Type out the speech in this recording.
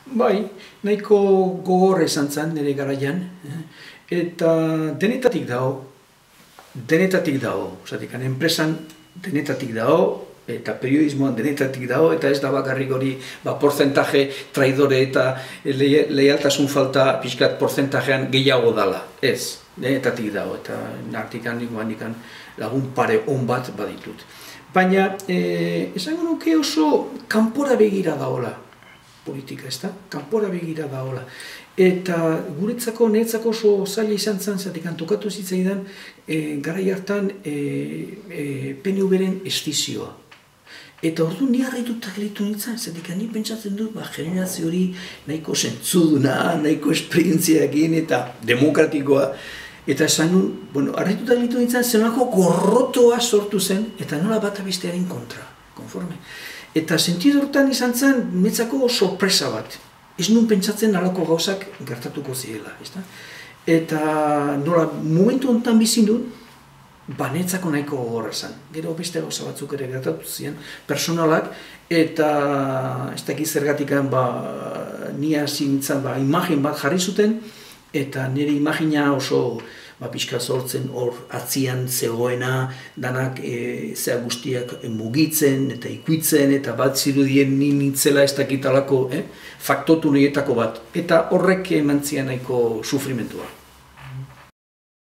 Bai, nahiko gogorra izan zen nire garaian, eta denetatik dago, enpresan denetatik dago, eta periodismoan denetatik dago, eta ez da bakarrik hori porcentaje traidore eta leialtasun falta pixkat porcentajean gehiago dala. Ez, denetatik dago, eta nartikan lagun pare on bat baditut. Baina, esango nuke oso kanpora begira daola politika, ez da? Kanpora begira daola. Eta niretzako oso zaila izan zen, zatik tokatu zitzaidan, garai hartan PNV-ren estizioa. Eta ordu ni harrituta gelditu nintzen, zatik ni pentsatzen dut, generazio hori nahiko zentzuduna, nahiko esperientziakin eta demokratikoa. Eta esan nun, harrituta gelditu nintzen, zenolako gorrotoa sortu zen, eta nola bat abestearen kontra, konforme. Eta sentidu hortan izan zen, netzako sorpresa bat. Ez nun pentsatzen alako gauzak gertatuko zirela. Eta nola, momentu honetan bizin dut, netzako nahiko gogorra zen. Gero beste gauza batzuk ere gertatu ziren, personalak, eta ez dakiz zergatikan ni hasi nintzen imagen bat jarri zuten, eta nire imagina oso pixka sortzen hor atzian zegoena, danak zea guztiak mugitzen eta ikuitzen, eta bat zirudien nintzela ez dakitalako faktotu nietako bat. Eta horrek eman zian nahiko sufrimentua.